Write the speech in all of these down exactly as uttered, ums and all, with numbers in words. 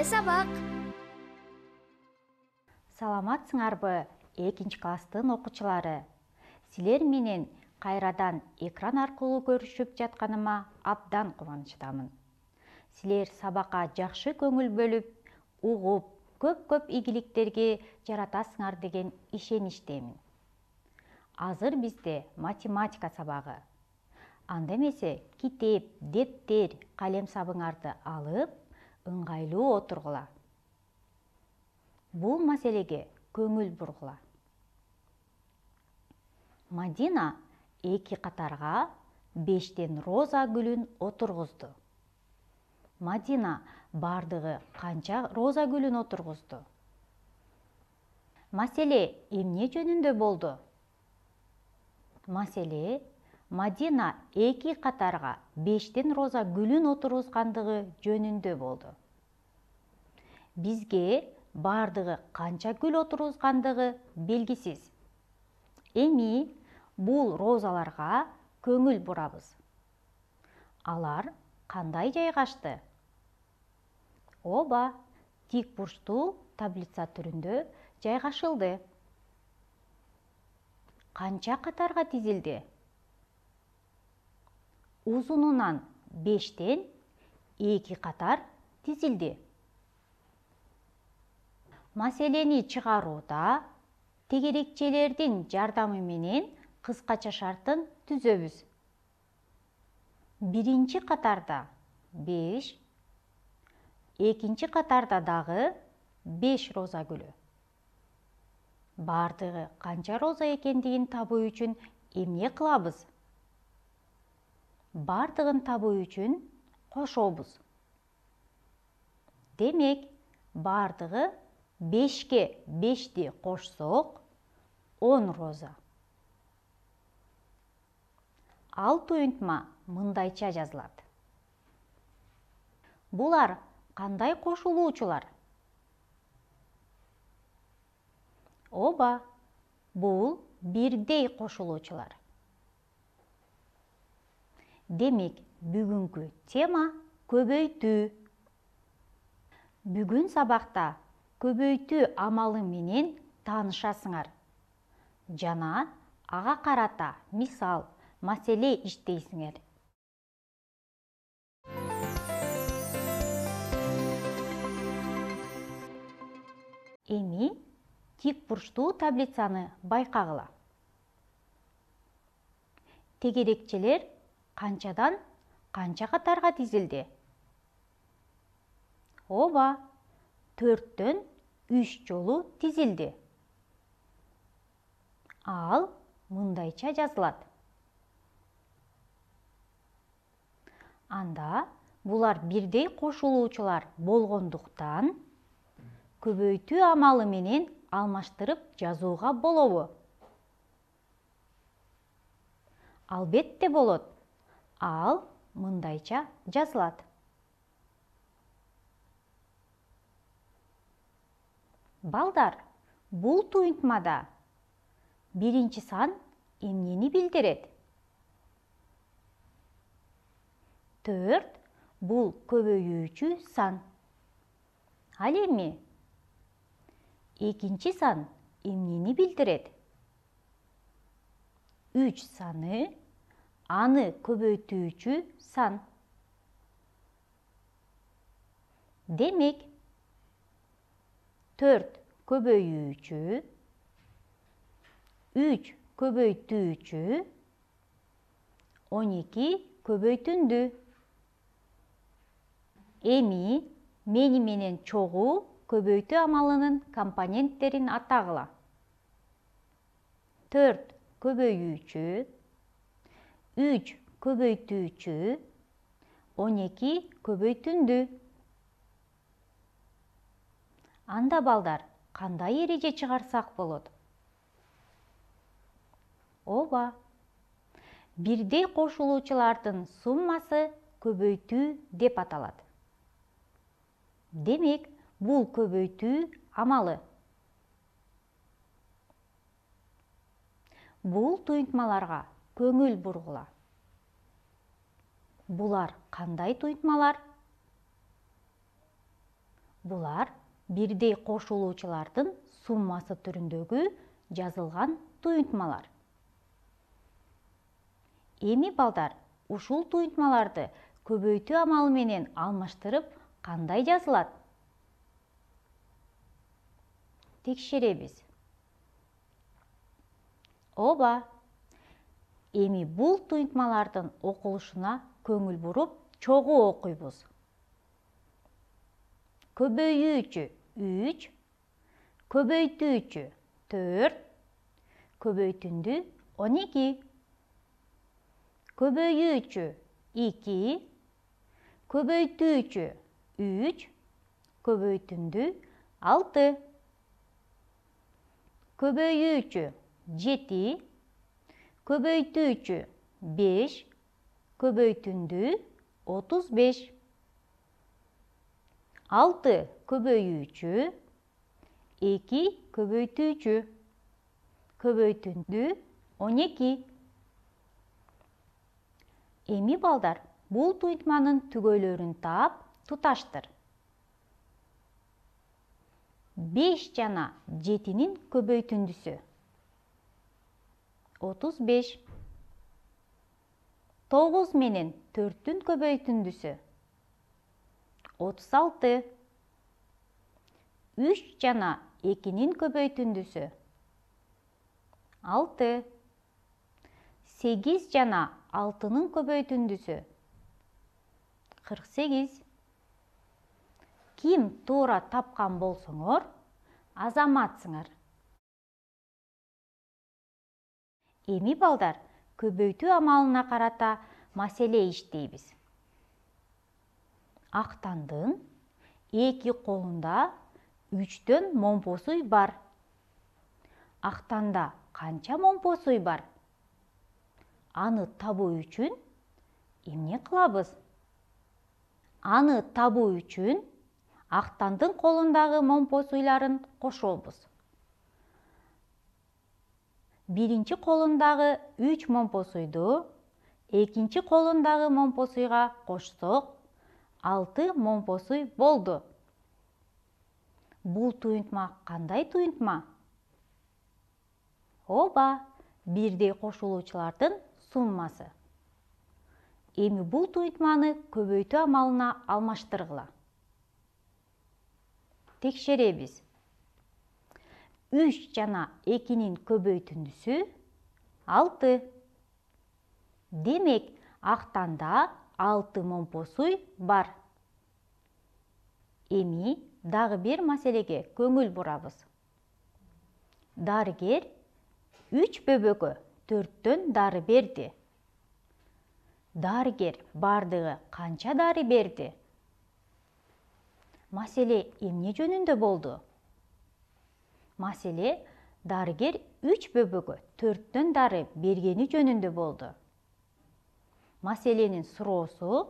сабак. Саламатсыңарбы, экинчи класстын окуучулары? Силер менен кайрадан экран аркылуу көрүшүп жатканыма абдан кубанычтамын. Силер сабакка жакшы көңүл бөлүп, угуп, көп-көп ийгиликтерге жаратасыңар деген ишеничтемин. Азыр бизде математика сабагы. Анда эмесе китеп, дептер, калем сабыңарды алып, ыңгайлуу отургула. Бул маселеге көңүл бургула. Мадина эки катарга бештен роза гүлүн отургузду. Мадина бардыгы канча роза гүлүн отургузду? Маселе эмне жөнүндө болду? Маселе Мадина эки катарга бештен роза гүлүн отургузгандыгы жөнүндө болду. Бизге бардыгы канча гүл отургузгандыгы белгисиз. Эми бул розаларга көңүл бурабыз. Алар кандай жайгашты? Ооба, тик бурчтуу таблица түрүндө жайгашылды. Канча катарга тизилди? Узунунан бештен эки катар тизилди. Маселени чыгарууда тегерекчелердин жардамы менен кыскача шартын түзөбүз. Биринчи катарда беш, экинчи катарда дагы беш роза гүлү. Бардыгы канча роза экендигин табуу үчүн эмне кылабыз? Бардыгын табуу үчүн кошобуз. Демек, бардыгы бешке бешти кошсок, он роза. Ал туюнтма мындайча жазылат. Булар кандай кошулуучулар? Ооба, бул бирдей кошулуучулар. Демек, бүгүнкү тема көбөйтүү. Бүгүн сабакта көбөйтүү амалы менен таанышасыңар. Жана ага карата мисал, маселе иштейсиңер. Эми тик бурчтуу таблицаны байкагыла. Тегерекчелер канчадан канча катарга тизилди? Ооба, төрттөн үч жолу тизилди. Ал мындайча жазылат. Анда булар бирдей кошулуучулар болгондуктан көбөйтүү амалы менен алмаштырып жазууга болобу? Албетте болот. Ал мындайча жазылат. Балдар, бул туюнтмада биринчи сан эмнени билдирет? Төрт бул көбөйүүчү сан. Ал эми экинчи сан эмнени билдирет? Үч саны аны көбөйтүүчү сан. Демек, төрт көбөйүүчү, үч көбөйтүүчү, он эки көбөйтүндү. Эми мени менен чогуу көбөйтүү амалынын компоненттерин атагыла. төрт көбөйүүчү, үч көбөйтүүчү, он эки көбөйтүндү. Анда балдар, кандай эреже чыгарсак болот? Ооба, бирдей кошулуучулардын суммасы көбөйтүү деп аталат. Демек, бул көбөйтүү амалы. Бул туюнтмаларга көңүл бургула. Булар кандай туюнтмалар? Булар бирдей кошулуучулардын суммасы түрүндөгү жазылган туюнтмалар. Эми балдар, ушул туюнтмаларды көбөйтүү амалы менен алмаштырып кандай жазылат? Текшеребиз. Ооба. Эми бул туюнтмалардын окулушуна көңүл буруп, чогуу окуйбуз. Көбөйүүчү үч, көбөйтүүчү төрт, көбөйтүндү он эки, көбөйүүчү эки, көбөйтүүчү үч, көбөйтүндү алты, көбөйүүчү жети, көбөйтүүчү беш, көбөйтүндү отуз беш, алты көбөйүүчү, эки көбөйтүүчү, көбөйтүндү он эки. Эми балдар, бул туюнтманын түгөйлөрүн таап, туташтыр. беш жана жетинин көбөйтүндүсү отуз беш. тогуз менен төрттүн көбөйтүндүсү отуз алты. үч жана экинин көбөйтүндүсү алты. сегиз жана алтынын көбөйтүндүсү кырк сегиз. Ким туура тапкан болсоңор, азаматсыңар. Эми балдар, көбөйтүү амалына карата маселе иштейбиз. Актандын эки колунда үчтөн момпосуй бар. Актанда канча момпосуй бар? Аны табуу үчүн эмне кылабыз? Аны табуу үчүн Актандын колундагы момпосуйларын кошобуз. Биринчи колундагы үч момпосуйду экинчи колундагы момпосуйга кошсок, алты момпосуй болду. Бул туюнтма кандай туюнтма? Ооба, бирдей кошулуучулардын суммасы. Эми бул туюнтманы көбөйтүү амалына алмаштыргыла. Текшеребиз. үч жана экинин көбөйтүндүсү алты. Демек, актанда алты момпосуй бар. Эми дагы бир маселеге көңүл бурабыз. Дарыгер үч бөбөгө төрттөн дары берди. Дарыгер бардыгы канча дары берди? Маселе эмне жөнүндө болду? Маселе дарыгер үч бөбөгө төрттөн дары бергени жөнүндө болду. Маселенин суроосу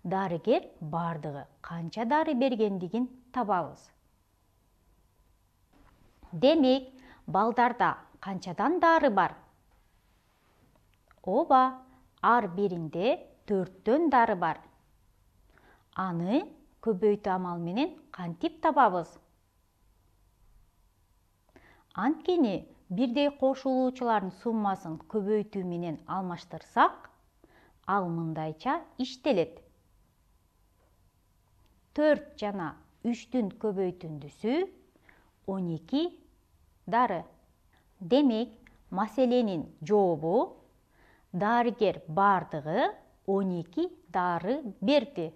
дарыгер бардыгы канча дары бергендигин табабыз. Демек, балдарда канчадан дары бар? Ооба, ар биринде төрттөн дары бар. Аны көбөйтүү амалы менен кантип табабыз? Анткени бирдей кошулуучулардын суммасын көбөйтүү менен алмаштырсак, ал мындайча иштелет. төрт жана үчтүн көбөйтүндүсү он эки дары. Демек, маселенин жообу дарыгер бардыгы он эки дары берди.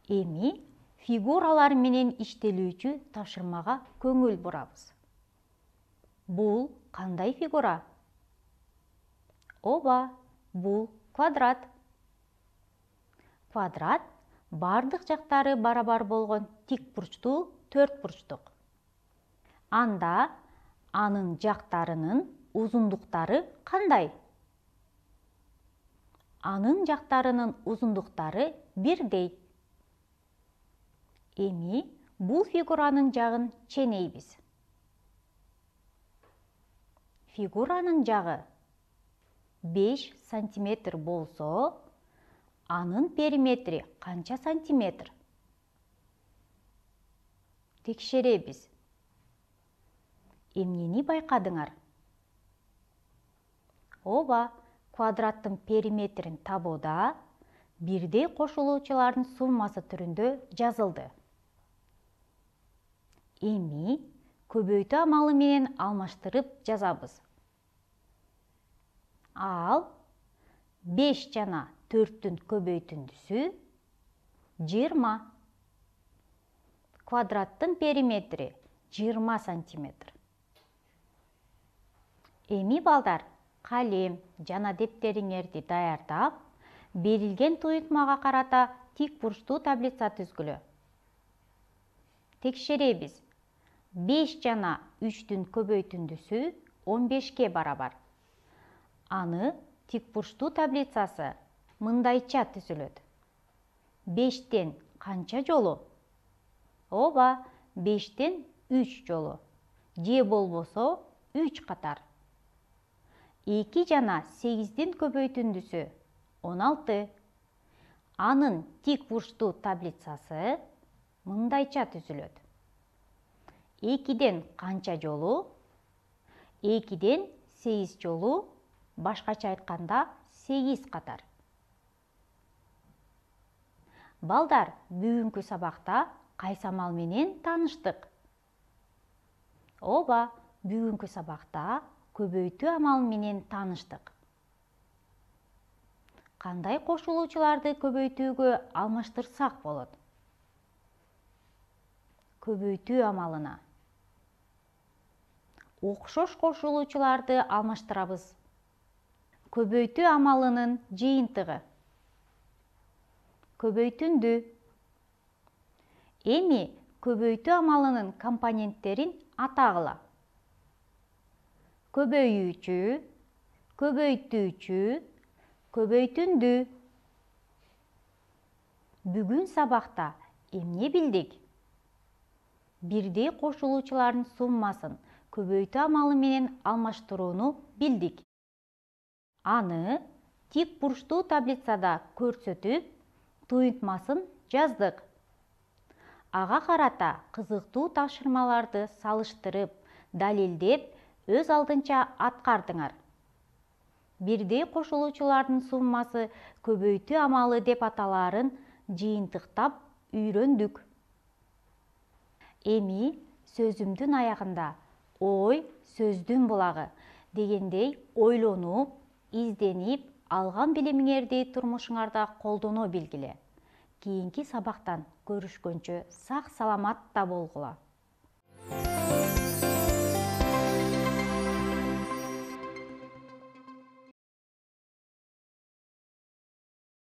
Эми фигуралар менен иштелүүчү тапшырмага көңүл бурабыз. Бул кандай фигура? Ооба, бул квадрат. Квадрат бардык жактары барабар болгон тик бурчтуу төрт бурчтук. Анда анын жактарынын узундуктары кандай? Анын жактарынын узундуктары бирдей. Эми бул фигуранын жагын ченейбиз. Фигуранын жагы беш сантиметр болсо, анын периметри канча сантиметр? текшеребиз. Эмнени байкадыңар? Ооба, квадраттын периметрин табууда бирдей кошулуучулардын суммасы түрүндө жазылды. Эми көбөйтүү амалы менен алмаштырып жазабыз. Ал беш жана төрттүн көбөйтүндүсү жыйырма. Квадраттын периметри жыйырма сантиметр. Эми балдар, калем жана дептериңерди даярдап, берилген туюртмага карата тик бурчтуу таблица түзгүлө. Текшеребиз. беш жана үчтүн көбөйтүндүсү он бешке барабар. Аны тик бурчтуу таблицасы мындайча түзүлөт. бештен канча жолу? Ооба, бештен үч жолу. Же болбосо үч катар. эки жана сегиздин көбөйтүндүсү он алты. Анын тик бурчтуу таблицасы мындайча түзүлөт. экиден канча жолу? экиден сегиз жолу, башкача айтканда сегиз катар. Балдар, бүгүнкү сабакта кайсы амал менен тааныштык? Ооба, бүгүнкү сабакта көбөйтүү амалы менен тааныштык. Кандай кошулуучуларды көбөйтүүгө алмаштырсак болот? Көбөйтүү амалына окшош кошулуучуларды алмаштырабыз. Көбөйтүү амалынын жыйынтыгы. Көбөйтүндү. Эми көбөйтүү амалынын компоненттерин атагыла. Көбөйүүчү, көбөйтүүчү, көбөйтүндү. Бүгүн сабакта эмне билдик? Бирдей кошулуучулардын суммасын көбөйтүү амалы менен алмаштырууну билдик. Аны тик бурчтуу таблицада көрсөтүп, туюртмасын жаздык. Ага карата кызыктуу тапшырмаларды салыштырып, далилдеп, өз алдынча аткардыңар. Бирдей кошулуучулардын суммасы көбөйтүү амалы деп аталаарын жыйынтыктап үйрөндүк. Эми сөзүмдүн аягында ой сөздүн булагы дегендей ойлонуп, изденип, алган билимиңерди турмушуңарда колдоно билгиле. Кийинки сабактан көрүшкөнчө сак саламатта болгула.